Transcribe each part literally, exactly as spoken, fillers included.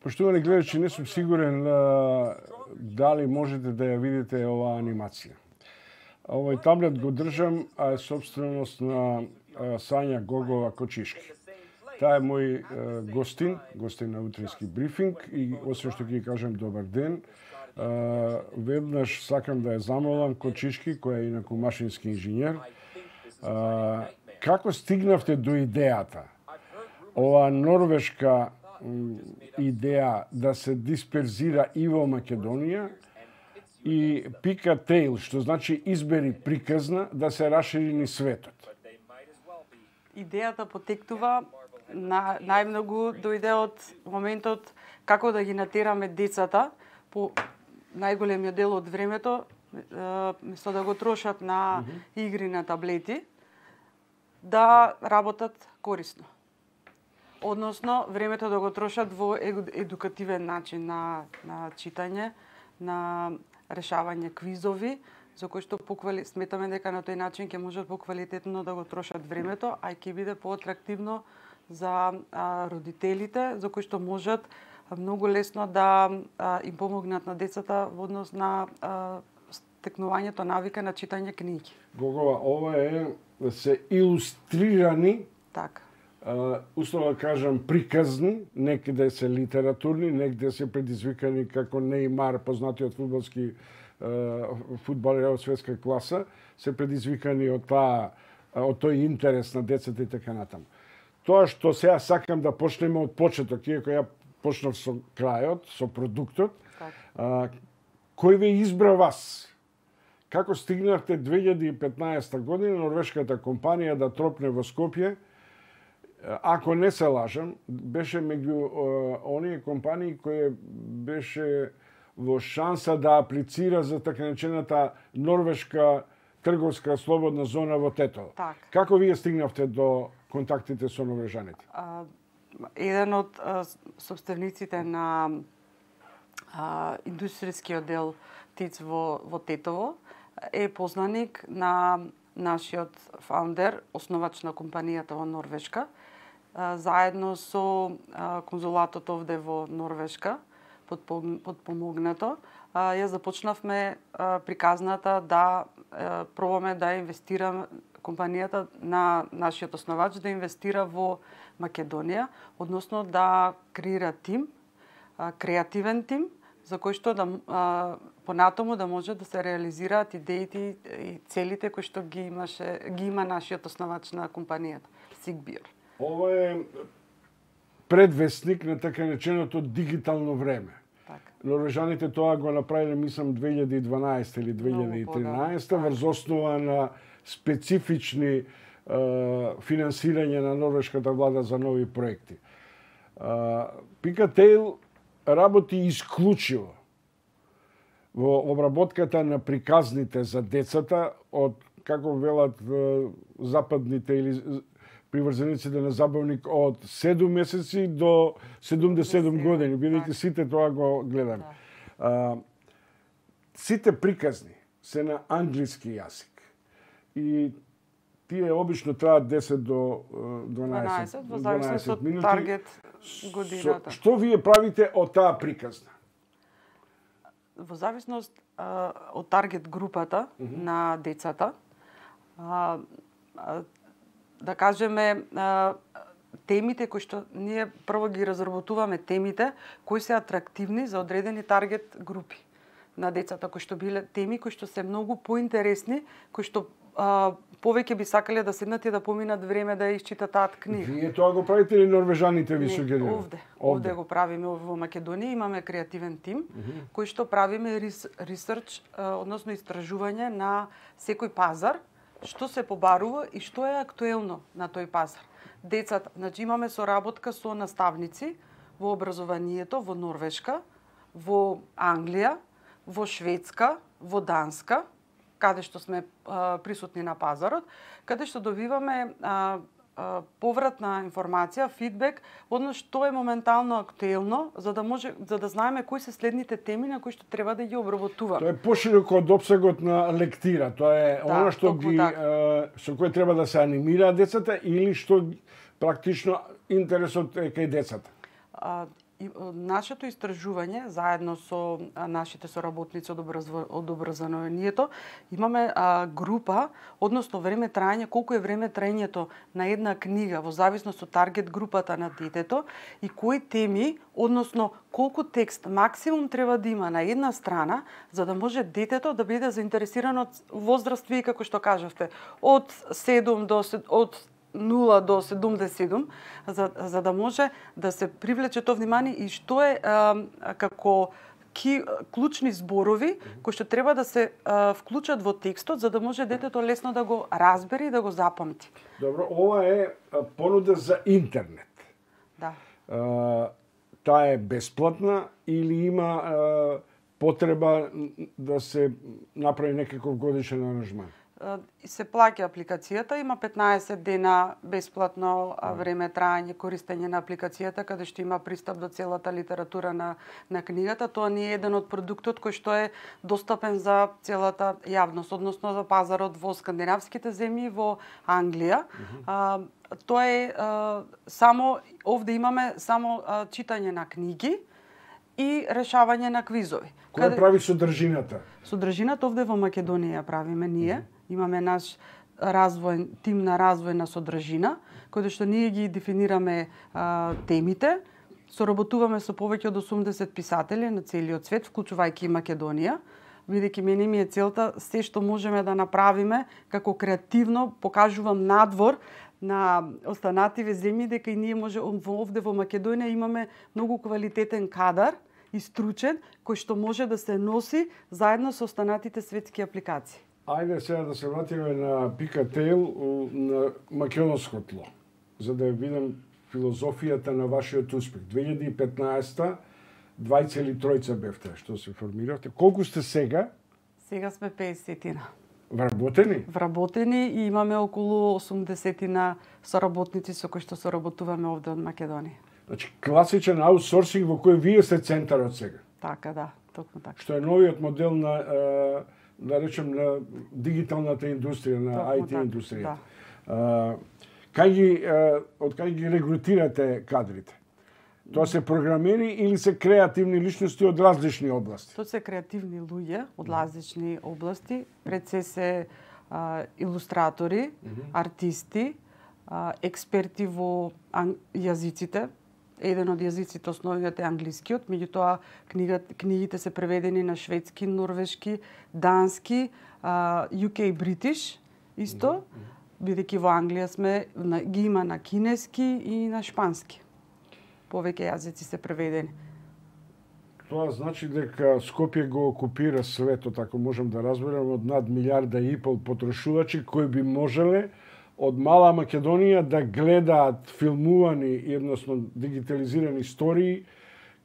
Поштовани гледачи, не сум сигурен а, дали можете да ја видите оваа анимација. Овој таблет го држам, а е собственост на а, Сања Гогова Кочишки. Таа е мој а, гостин, гостин на утрински брифинг и освен што ќе кажам добар ден, а, веднаш сакам да ја замолам Кочишки, која е инаку машински инженер, а, како стигнавте до идејата оваа норвешка идеја да се дисперзира и во Македонија и пика тейл, што значи избери приказна да се расшири низ светот? Идејата потекнува на најмногу дојде од моментот како да ги натераме децата по најголемиот дел од времето, место да го трошат на игри на таблети, да работат корисно. Односно, времето да го трошат во едукативен начин на, на читање, на решавање квизови, за кои што поквали... сметаме дека на тој начин ќе можат поквалитетно да го трошат времето, а ќе биде поатрактивно за а, родителите, за кои што можат многу лесно да а, им помогнат на децата во однос на а, стекнувањето навика на читање книги. Гогова, ова е се илустрирани, така. Uh, условно да кажам, приказни, некаде се литературни, некаде се предизвикани како Нејмар, познатиот фудбалски uh, фудбалер од светска класа, се предизвикани од таа од тој интерес на децата и така натаму. Тоа што сега сакам да почнеме од почеток, иако ја почнав со крајот, со продуктот, uh, кој ве избра вас? Како стигнавте две илјади и петнаесетта година норвешката компанија да тропне во Скопје? Ако не се лажам, беше меѓу оние компании кои беше во шанса да аплицира за така наречената норвешка трговска слободна зона во Тетово. Так. Како вие стигнавте до контактите со норвежаните? А, еден од а, собствениците на а, индустријскиот дел ТИЦ во, во Тетово е познаник на нашиот фаундер, основач на компанијата во Норвешка, заедно со конзулатот овде во Норвешка, подпомогнато, ја започнавме приказната да пробаме да инвестираме компанијата на нашиот основач да инвестира во Македонија, односно да креира тим, креативен тим, за кој што да понатаму да може да се реализираат идеите и целите кои што ги имаше ги има нашиот основач на компанијата, Сигбир. Ова е предвестник на така нареченото дигитално време. Така. Норвежаните тоа го направиле, мислам, две илјади и дванаесетта или две илјади и тринаесетта врз основа на специфични е, финансирање на норвешката влада за нови проекти. Пика Тейл работи исклучиво во обработката на приказните за децата од, како велат западните или приврзениците на забавник, од седум месеци до седумдесет и седум години, бидејќи сите тоа го гледаме. А, сите приказни се на англиски јазик. И тие обично траат десет до дванаесет, во зависност од минути. таргет годината. Со, што вие правите од таа приказна? Во зависност а, од таргет групата uh -huh. на децата, а, а, да кажеме, а, темите кои што ние прво ги разработуваме темите кои се атрактивни за одредени таргет групи на децата, кои што биле теми кои што се многу поинтересни, кои што а, повеќе би сакале да седнат и да поминат време да ја исчитат книга. Вие тоа го правите или норвежаните ви сугерираат? Овде, овде го правиме во Македонија, имаме креативен тим uh -huh. кој што правиме ресерч, односно истражување на секој пазар, што се побарува и што е актуелно на тој пазар. Децата, значи имаме соработка со наставници во образованието во Норвешка, во Англија, во Шведска, во Данска, каде што сме а, присутни на пазарот, каде што добиваме а, а, повратна информација, фидбек, односно што е моментално актуелно, за да може за да знаеме кои се следните теми на кои што треба да ги обработуваме. Тоа е пошироко од опсегот на лектира. Тоа е да, она што ги а, со кој треба да се анимираат децата или што практично интересот е кај децата. А, нашето истражување заедно со нашите соработници од од образованието имаме а, група, односно време траење, колку е време траењето на една книга во зависност од таргет групата на детето и кои теми, односно колку текст максимум треба да има на една страна за да може детето да биде заинтересирано од возраст, како што кажавте, од седум до од нула до седумдесет и седум, за, за да може да се привлече тоа внимание и што е а, како ки, клучни зборови кои што треба да се а, вклучат во текстот за да може детето лесно да го разбере и да го запамти. Добро, ова е понуда за интернет. Да. А, таа е бесплатна или има а, потреба да се направи некаков годишен аранжман? Се плаќа апликацијата, има петнаесет дена бесплатно време траење користење на апликацијата, каде што има пристап до целата литература на, на книгата. Тоа не е еден од продуктот кој што е достапен за целата јавност, односно за пазарот во скандинавските земји, во Англија. Mm-hmm. а, тоа е а, само, овде имаме само а, читање на книги и решавање на квизови. Кој каде... прави содржината? Содржината овде во Македонија правиме ние. Mm-hmm. Имаме наш развој, тим на развој на содржина, кој што ние ги дефинираме а, темите. Соработуваме со повеќе од осумдесет писатели на целиот свет, вклучувајќи и Македонија. Бидејќи мене ми е целта се што можеме да направиме како креативно покажувам надвор на останативе земји дека и ние може овде во Македонија имаме многу квалитетен кадар и стручен кој што може да се носи заедно со останатите светски апликации. Ајде сега да се вратиме на Пикатейл на македонско тло, за да ја видам филозофијата на вашиот успех. две илјади и петнаесета двајца или тројца бевте што се формиравте. Колку сте сега? Сега сме песетина. Вработени? Вработени и имаме околу осумдесетина соработници со кои што соработуваме овде од Македонија. Значи класичен аутсорсинг во кој вие сте центарот сега. Така, да, токму така. Што е новиот модел на да речем на дигиталната индустрија, на Токму ај ти така, индустријата. Да. Кај ги од кај ги регрутирате кадрите? Тоа се програмери или се креативни личности од различни области? Тоа се креативни луѓе од различни области, пред се се а, илустратори, mm-hmm. артисти, а, експерти во ан... јазиците. Еден од јазиците основниот е англискиот, меѓутоа книгата, книгите се преведени на шведски, норвешки, дански, а, ю кей British исто, mm-hmm. бидејќи во Англија сме на, ги има на кинески и на шпански. Повеќе јазици се преведени. Тоа значи дека Скопје го окупира светот, ако можам да разберам, од над милиарда и пол потрошувачи кои би можеле од мала Македонија да гледаат филмувани, едносно дигитализирани истории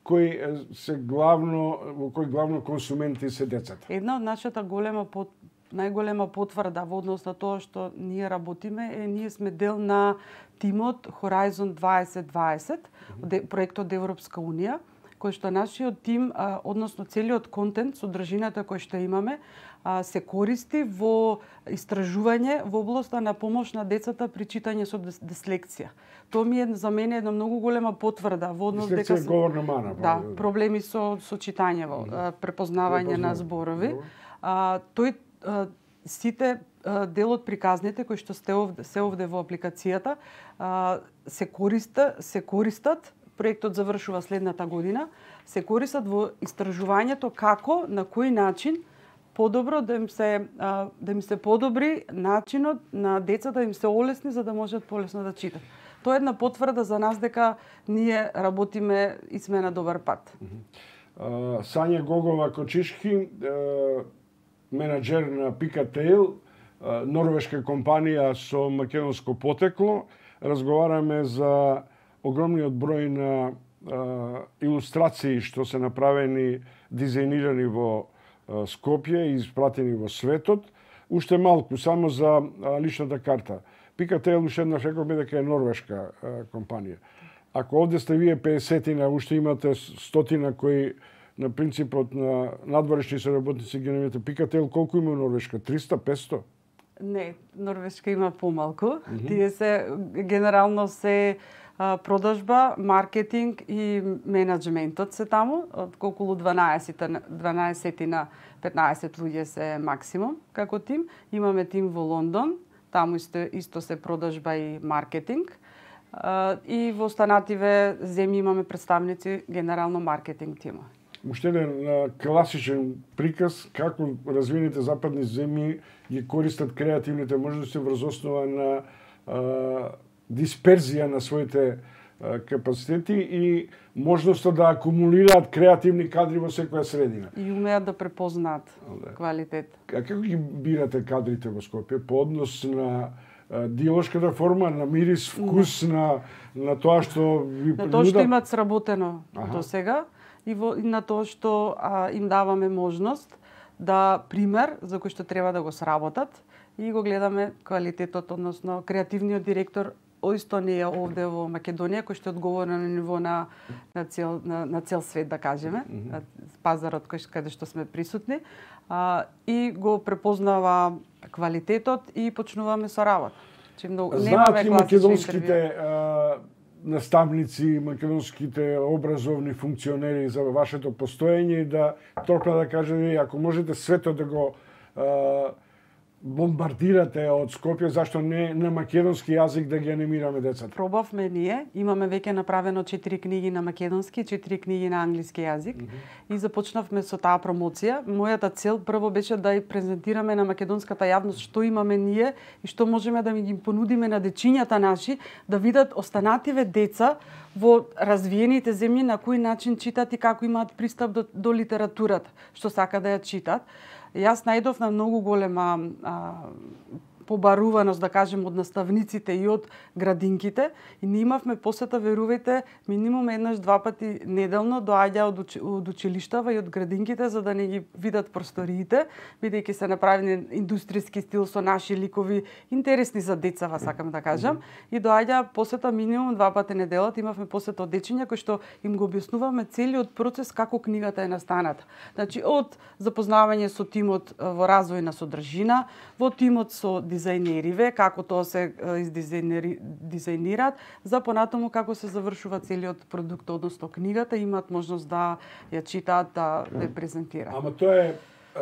кои се главно во кои главно консументи се децата. Една од нашата голема под најголема потврда во однос на тоа што ние работиме е ние сме дел на тимот Horizon дваесет дваесет, mm-hmm. проектот од Европска унија, кој што нашиот тим, а, односно целиот контент, содржината кој што имаме, а, се користи во истражување во областа на помош на децата при читање со дислекција. Тоа ми е за мене една многу голема потврда во однос дека се говорна мана. Да, проблеми со со читање, во препознавање на зборови. А, тој а, сите а, дел од приказните кои што сте овде, се овде во апликацијата а, се користа, се користат. Проектот завршува следната година, се користат во истражувањето како, на кој начин подобро да им се да им се подобри начинот на децата да им се олесни за да можат полесно да читат. Тоа е една потврда за нас дека ние работиме и сме на добар пат. Uh, Сања Гогова Кочишки, uh, менаџер на Пикатейл, uh, норвешка компанија со македонско потекло, разговараме за огромниот број на а, илустрации што се направени, дизајнирани во а, Скопје и испратени во светот. Уште малку, само за а, личната карта. Пикатейл уште еднаш рековме дека е норвешка а, компанија. Ако овде сте вие песетина, уште имате стотина кои на принципот на надворешни соработници ги немате. Пикатейл колку има Норвешка? триста петсто? Не, Норвешка има помалку. Mm-hmm. Тие се генерално се продажба, маркетинг и менеджментот се таму, од околу дванаесет на петнаесет луѓе се максимум како тим. Имаме тим во Лондон, таму исто, исто се продажба и маркетинг. И во останативе земји имаме представници генерално маркетинг тима. Уште еден класичен приказ како развиените западни земји ги користат креативните можности врз основа на а, дисперзија на своите а, капацитети и можноста да акумулираат креативни кадри во секоја средина. И умеат да препознаат да. квалитет. А како ги бирате кадрите во Скопје? По однос на диалошката форма, на мирис, вкус, да. на, на тоа што ви принуда? На тоа што имат сработено до сега и, во, и на тоа што а, им даваме можност да пример за кој што треба да го сработат и го гледаме квалитетот, односно креативниот директор исто не е овде во Македонија, кој што е одговорен на ниво на, на, цел, на, на цел свет, да кажеме, mm -hmm. пазарот кој каде што сме присутни, а, и го препознава квалитетот и почнуваме со работа. Знаат ли македонските а, наставници, македонските образовни функционери за вашето постоење да трокна да кажете, ако можете светот да го а, бомбардирате од Скопје, зашто не на македонски јазик да ги анимираме децата? Пробавме ние, имаме веќе направено четири книги на македонски, четири книги на англиски јазик mm -hmm. и започнавме со таа промоција. Мојата цел прво беше да ја презентираме на македонската јавност што имаме ние и што можеме да ми ги понудиме на дечињата наши, да видат останативе деца во развиените земји на кој начин читат и како имаат пристап до, до литературата, што сака да ја читат. Јас најдов на многу голема а, побаруваност, да кажем, од наставниците и од градинките. И ние имавме посета, верувајте, минимум еднаш два пати неделно доаѓа од, уч... од училиштава и од градинките за да не ги видат просториите, бидејќи се направени индустријски стил со наши ликови, интересни за децава, сакам да кажам. И доаѓа посета минимум два пати неделот. Имавме посета од дечиња кои што им го објаснуваме целиот процес како книгата е настаната. Значи, од запознавање со тимот во развој на содржина, во тимот со дизајнериве, како тоа се дизајнираат, за понатаму како се завршува целиот продукт, односно книгата, имаат можност да ја читаат, да ја презентираат. Ама тоа е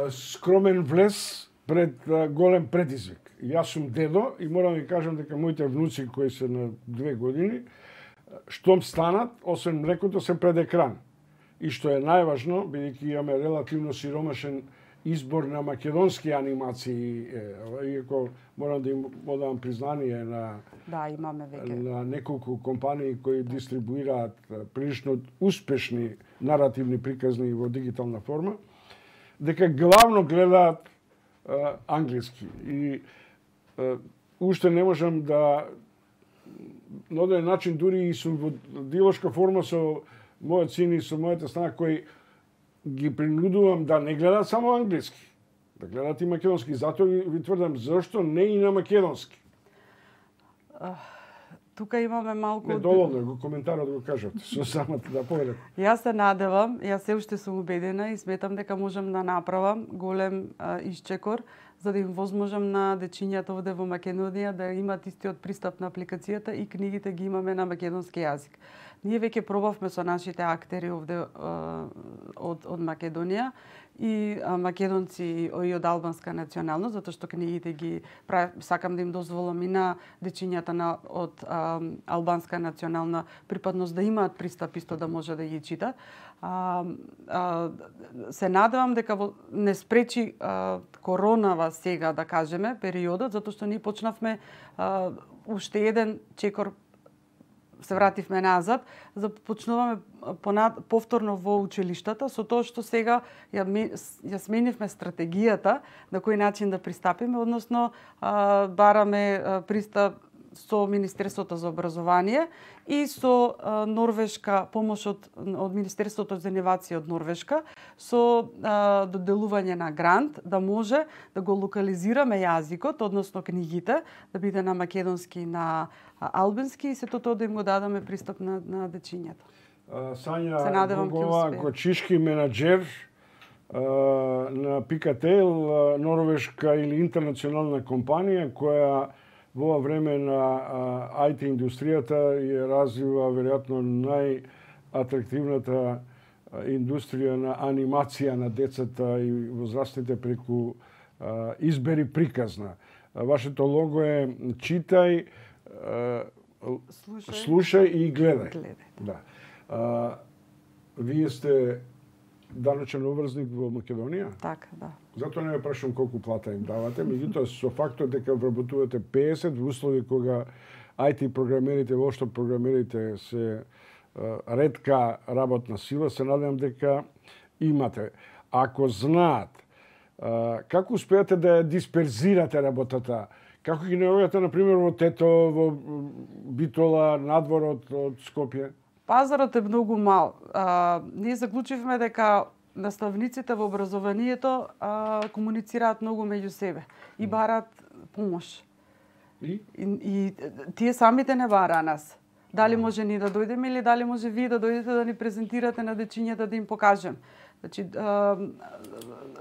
скромен влез пред голем предизвик. Јас сум дедо и морам да ви кажам дека моите внуци кои се на две години, штом станат, освен млекото, се пред екран. И што е најважно, бидејќи имаме релативно сиромашен избор на македонски анимации, иако морам да им одам признание на да, имаме веќе на неколку компании кои дистрибуираат прилично успешни наративни приказни во дигитална форма, дека главно гледаат а, англиски. И а, уште не можам да на оден начин дури и сум во диалошка форма со мојот син и со мојата снага кои ги принудувам да не гледаат само англиски, да гледаат и македонски. Затоа ви тврдам, зашто не и на македонски? Uh, тука имаме малку... Не, доволно, го коментарот го кажат, со самата да поведат. Јас се надевам, јас се уште сум убедена и сметам дека можам да направам голем uh, исчекор за да им возможам на дечињата овде во Македонија да имат истиот пристап на апликацијата и книгите ги имаме на македонски јазик. Ние веќе пробавме со нашите актери овде од, од Македонија и македонци и од албанска националност, затоа што книгите ги прав... сакам да им дозволам и на дечињата на од а, албанска национална припадност да имаат пристап исто да може да ги читат. А, а, се надевам дека во, не спречи а, коронава сега, да кажеме, периодот, затоа што ние почнавме а, уште еден чекор, се вративме назад, започнуваме повторно во училиштата, со тоа што сега ја, ја сменивме стратегијата на кој начин да пристапиме, односно а, бараме а, пристап со Министерството за образование и со а, Норвешка, помош од, од Министерството за инновација од Норвешка, со а, доделување на грант, да може да го локализираме јазикот, односно книгите, да биде на македонски, на албански и сето тоа да им го дадаме пристап на, на дечињата. Сања Богова, кочишки менаџер а, на Пикатейл, норвешка или интернационална компанија која во ова време на ай ти индустријата ја развива веројатно најатрактивната индустрија на анимација на децата и возрастните преку избери приказна. Вашето лого е читај, Слушај, слушај и гледај. гледај. Да. А, вие сте даночен обврзник во Македонија? Така, да. Затоа не ме прашувам колку плата им давате, меѓутоа со фактот дека вработувате песет во услови кога ай ти програмерите, воопшто програмерите се ретка работна сила, се надевам дека имате. Ако знаат, како успеате да ја дисперзирате работата? Како ги наоѓате, например, во Тето, во Битола, надворот од Скопје? Пазарот е многу мал. А, ние заклучивме дека наставниците во образованието а, комуницираат многу меѓу себе и бараат помош. И? И, и тие самите не бараа нас. Дали може ни да дојдеме или дали може вие да дојдете да ни презентирате на дечињата да им покажем. Значи, а,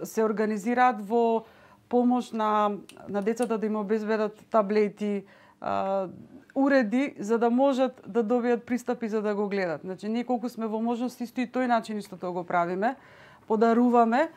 се организираат во помош на, на децата да им обезбедат таблети, а, уреди за да можат да добијат пристапи за да го гледат. Значи, ние колку сме во можност исто и тој начин исто тоа го правиме, подаруваме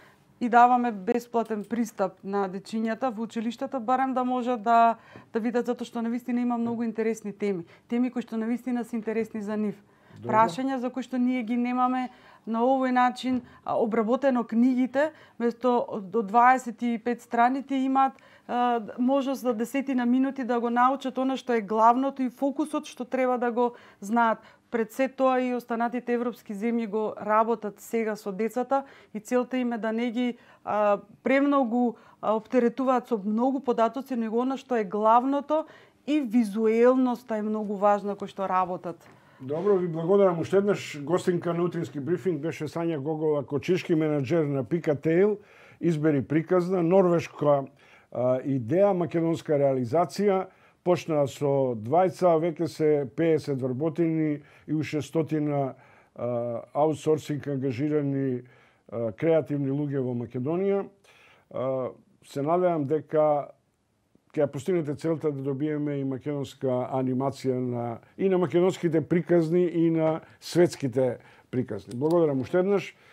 и даваме бесплатен пристап на дечињата во училиштата, барем да можат да да видат, затоа што навистина има многу интересни теми, теми кои што навистина се интересни за нив. Добро. Прашања за кои што ние ги немаме на овој начин обработено книгите, место до дваесет и пет страните имаат а, можност за десетина минути да го научат она што е главното и фокусот што треба да го знаат. Пред се тоа и останатите европски земји го работат сега со децата и целта им е да не ги а, премногу а, оптеретуваат со многу податоци, него она што е главното и визуелноста е многу важна кој што работат. Добро, ви благодарам уште еднаш. Гостинка на утрински брифинг беше Сања Гогова, кочишки менаџер на Picatail, избери приказна, норвешка а, идеја, македонска реализација. Почна со двајца, веќе се пеесет вработени и уште стотина а, аутсорсинг ангажирани а, креативни луѓе во Македонија. А, се надевам дека ќе ја постигнете целта да добиеме и македонска анимација на и на македонските приказни и на светските приказни. Благодарам уште еднаш.